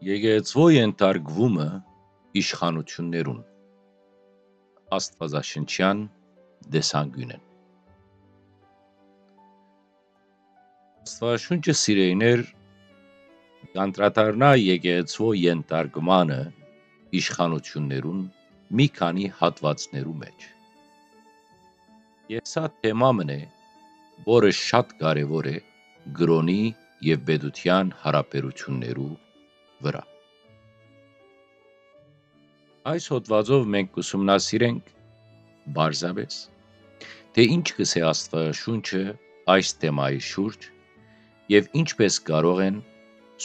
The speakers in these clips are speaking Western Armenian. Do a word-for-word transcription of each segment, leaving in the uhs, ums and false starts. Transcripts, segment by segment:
Եկեղեցւոյ ենթարկուումը իշխանութիւններուն, Աստուածաշնչեան տեսանկիւնէն։ Աստուածաշունչը, սիրելիներ, կ'անդրադառնայ եկեղեցւոյ ենթարկմանը իշխանութիւններուն մի քանի հատուածներու մէջ։ Եւ սա թեմա մըն է, որը շատ կարեւոր է կրօնի եւ պետութեան յարաբերութիւններու վրայ։ Այս հոդուածով մենք կ'ուսումնասիրենք պարզապէս, թէ ինչ կ'ըսէ Աստուածաշունչը այս թեմայի շուրջ եւ ինչպէս կարող են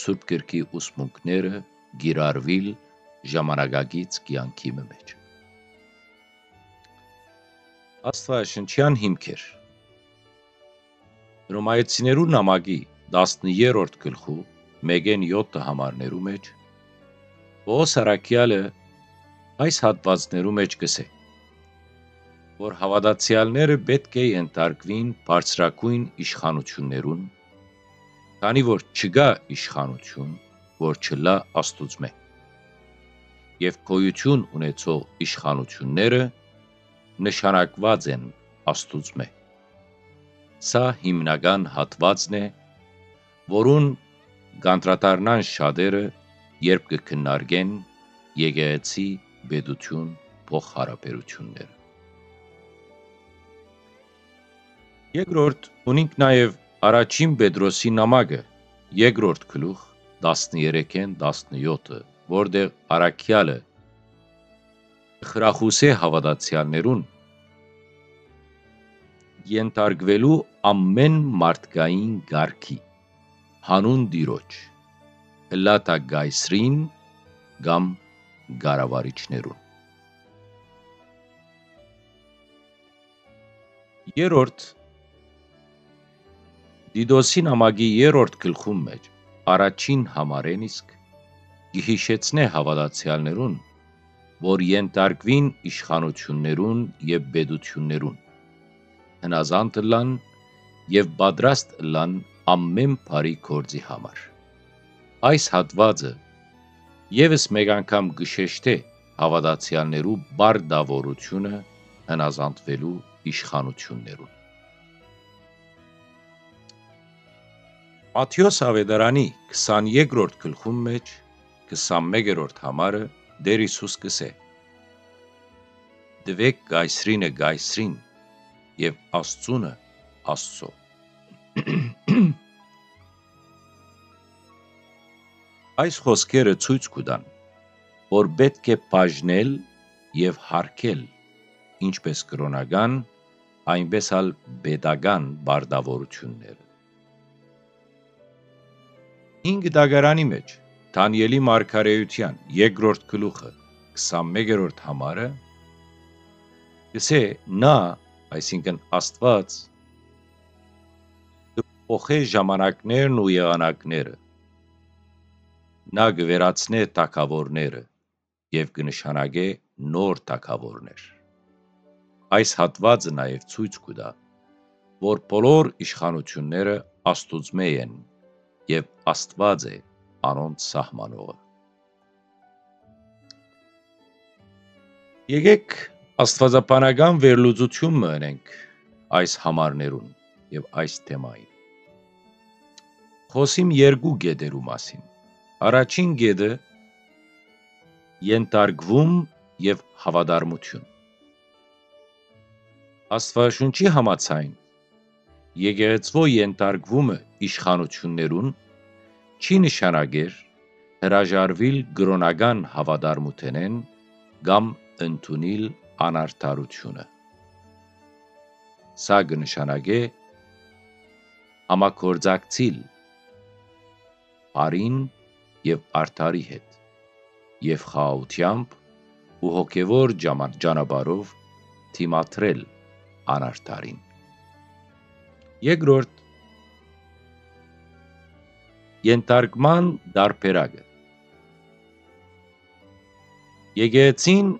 Սուրբ Գրքի ուսմունքները կիրառուիլ ժամանակակից կեանքի մը մէջ։ Աստուածաշնչեան հիմքեր։ Հռոմայեցիներու նամակի տասներորդ գլխու մէկէն եօթը համարներու մէջ Պողոս առաքեալը այս հատուածներու մէջ կ'ըսէ, որ հաւատացեալները պէտք է ենթարկուին բարձրագոյն իշխանութիւններուն, քանի որ չկայ իշխանութիւն, որ չըլլայ Աստուծմէ։ Եւ գոյութիւն ունեցող իշխանութիւնները նշանակուած են Աստուծմէ։ Սա հիմնական հատուածն է, որուն կ'անդրադառնան շատերը, երբ կը քննարկեն եկեղեցի պետութիւն փոխհարաբերութիւնները։ Երկրորդ, ունինք նաեւ առաջին Պետրոսի նամակը, երկրորդ գլուխ, տասներեքէն տասնեօթը, որտեղ առաքեալը խրախուսէ հաւատացեալներուն ենթարկուելու ամէն մարդկային կարգի, հանուն Տիրոջ, ըլլայ թէ կայսրին կամ կառավարիչներուն։ Երրորդ, Տիտոսի նամակի երրորդ գլխուն մէջ, առաջին համարէն իսկ, կը յիշեցնէ հաւատացեալներուն, որ ենթարկուին իշխանութիւններուն եւ պետութիւններուն, հնազանդ ըլլան եւ պատրաստ ըլլան ամէն բարի գործի համար։ Այս հատուածը եւս մէկ անգամ կը շեշտէ հաւատացեալներու պարտաւորութիւնը հնազանդուելու իշխանութիւններուն։ Մատթէոս Աւետարանի քսաներկրորդ գլխուն մէջ, քսանմէկերորդ համարը, Տէր Յիսուս կ'ըսէ. «Տուէք կայսրինը կայսրին եւ Աստծունը Աստծոյ»։ Այս խօսքերը ցոյց կու տան, որ պէտք է բաժնել եւ յարգել ինչպէս կրօնական, այնպէս ալ պետական պարտաւորութիւնները։ Հինգ տակարանի մէջ Դանիէլի մարգարէութեան երկրորդ գլուխը, քսանմէկերորդ համարը, կ'ըսէ. «Նա, այսինքն Աստուած, կը փոխէ ժամանակներն ու եղանակները, նա կը վերացնէ թագաւորները եւ կը նշանակէ նոր թագաւորներ»։ Այս հատուածը նաեւ ցոյց կու տայ, որ բոլոր իշխանութիւնները Աստուծմէ են եւ Աստուած է անոնց սահմանողը։ Եկէք աստուածաբանական վերլուծութիւն մը ընենք այս համարներուն եւ այս թեմային։ Խօսիմ երկու կետերու մասին։ Առաջին կետը՝ ենթարկվում եւ հաւատարմութիւն։ Աստուածաշունչի համաձայն, եկեղեցւոյ ենթարկումը իշխանութիւններուն չի նշանակեր հրաժարուիլ կրօնական հաւատարմութենէն կամ ընդունիլ անարդարութիւնը։ Սա կը նշանակէ համագործակցիլ բարին եւ արդարի հետ եւ խաղաղութեամբ ու հոգեւոր ճամա-, ճանապարհով դիմադրել անարդարին։ Երկրորդ, ենթարկման տարբերակը։ Եկեղեցին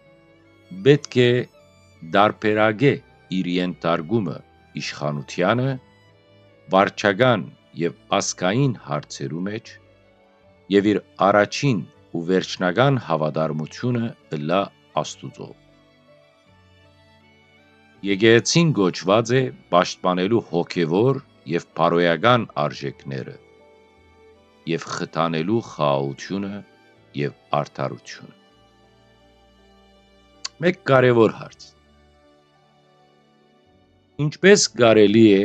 պէտք է տարբերակէ իր ենթարկումը իշխանութեանը վարչական եւ ազգային հարցերու մէջ եւ իր առաջին ու վերջնական հաւատարմութիւնը ըլլայ Աստուծոյ։ Եկեղեցին կոչուած է պաշտպանելու հոգեւոր եւ բարոյական արժեքները եւ խթանելու խաղաղութիւնը եւ արդարութիւնը։ Մէկ կարեւոր հարց։ Ինչպէս կարելի է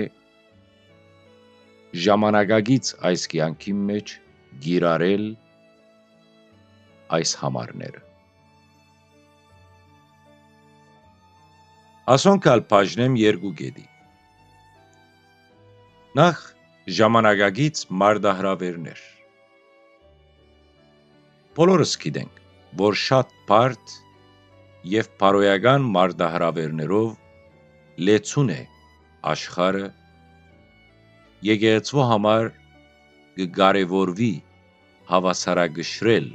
ժամանակակից այս կեանքին մէջ կիրառել այս համարները։ Ասոնք ալ բաժնեմ երկու կետի։ Նախ, ժամանակակից մարտահրաւերներ։ Բոլորս գիտենք, որ շատ բարդ եւ բարոյական մարտահրաւերներով լեցուն է աշխարհը, եկեղեցու համար կը կարեւորուի հաւասարակշռել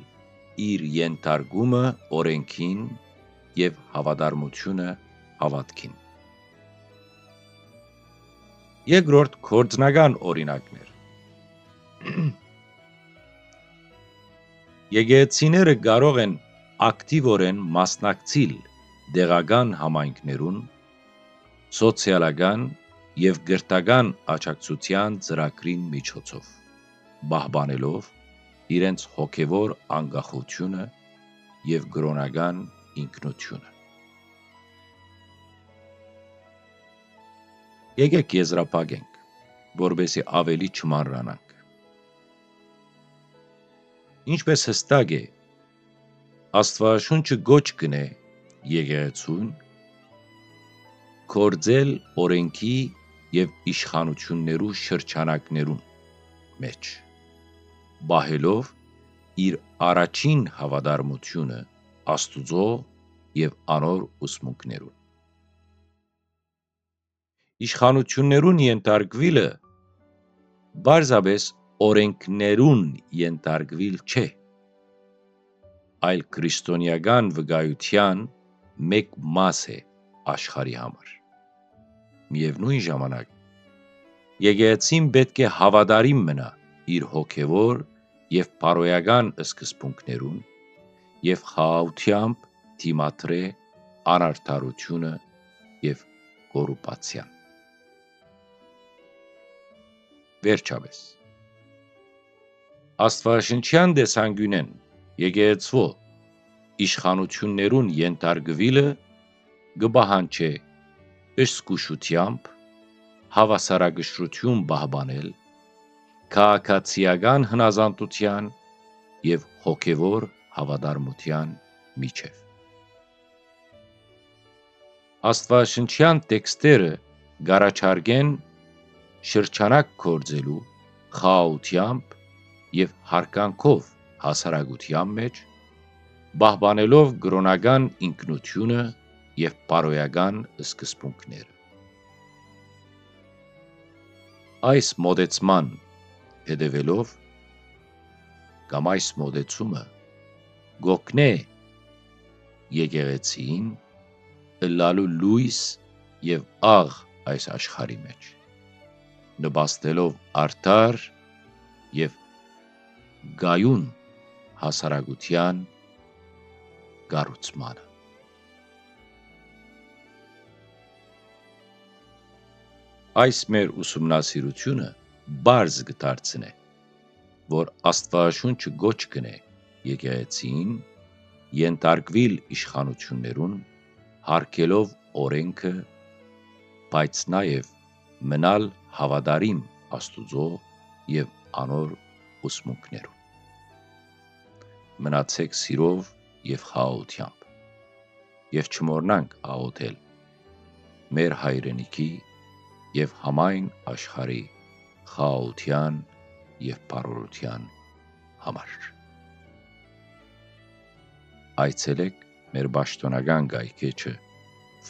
իր ենթարկումը օրէնքին եւ հաւատարմութիւնը հաւատքին։ Երկրորդ, գործնական օրինակներ։ Եկեղեցիները կարող են ակտիվորեն մասնակցիլ տեղական համայնքներուն, սոցիալական եւ կրթական աջակցութեան ծրագրին միջոցով, պահպանելով իրենց հոգեւոր անկախութիւնը եւ կրօնական ինքնութիւնը։ Եկէք եզրափակենք, որպեսզի աւելի չմանրանանք։ Ինչպէս յստակ է, Աստուածաշունչը կոչ կ'ընէ եկեղեցուն գործել օրէնքի եւ իշխանութիւններու շրջանակներուն մէջ, պահելով իր առաջին հաւատարմութիւնը Աստուծոյ եւ անոր ուսմունքներուն։ Իշխանութիւններուն ենթարկուիլը պարզապէս օրէնքներուն ենթարկուիլ չէ, այլ քրիստոնէական վկայութեան մէկ մաս է աշխարհի համար։ Միեւնոյն ժամանակ, եկեղեցին պէտք է հաւատարիմ մնայ իր հոգեւոր եւ բարոյական սկզբունքներուն եւ խաղաղութեամբ դիմադրէ անարդարութիւնը եւ կոռուպցիան։ Վերջապէս, Աստուածաշնչեան տեսանկիւնէն եկեղեցւոյ իշխանութիւններուն ենթարկուիլը կը պահանջէ զգուշութեամբ հաւասարակշռութիւն պահպանել քաղաքացիական հնազանդութեան եւ հոգեւոր հաւատարմութեան միջեւ։ Աստուածաշնչեան տեքստերը կ'առաջարկեն շրջանակ գործելու խաղաղութեամբ եւ յարգանքով հասարակութեան մէջ, պահպանելով կրօնական ինքնութիւնը եւ բարոյական սկզբունքները։ Այս մոտեցման հետեւելով կամ այս մոտեցումը կ'օգնէ եկեղեցին ըլլալու լոյս եւ աղ այս աշխարհի մէջ, նպաստելով արդար եւ կայուն հասարակութեան կառուցմանը։ Այս մեր ուսումնասիրութիւնը պարզ կը դարձնէ, որ Աստուածաշունչը կոչ կ'ընէ եկեղեցին ենթարկուիլ իշխանութիւններուն, յարգելով օրէնքը, բայց նաեւ մնալ հաւատարիմ Աստուծոյ եւ անոր ուսմունքներուն։ Մնացէք սիրով եւ խաղաղութեամբ եւ չմոռնանք աղօթել մեր հայրենիքի եւ համայն աշխարհի խաղաղութեան եւ բարօրութեան համար։ Այցելէք մեր պաշտօնական կայքէջը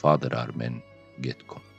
fatherarmen.com։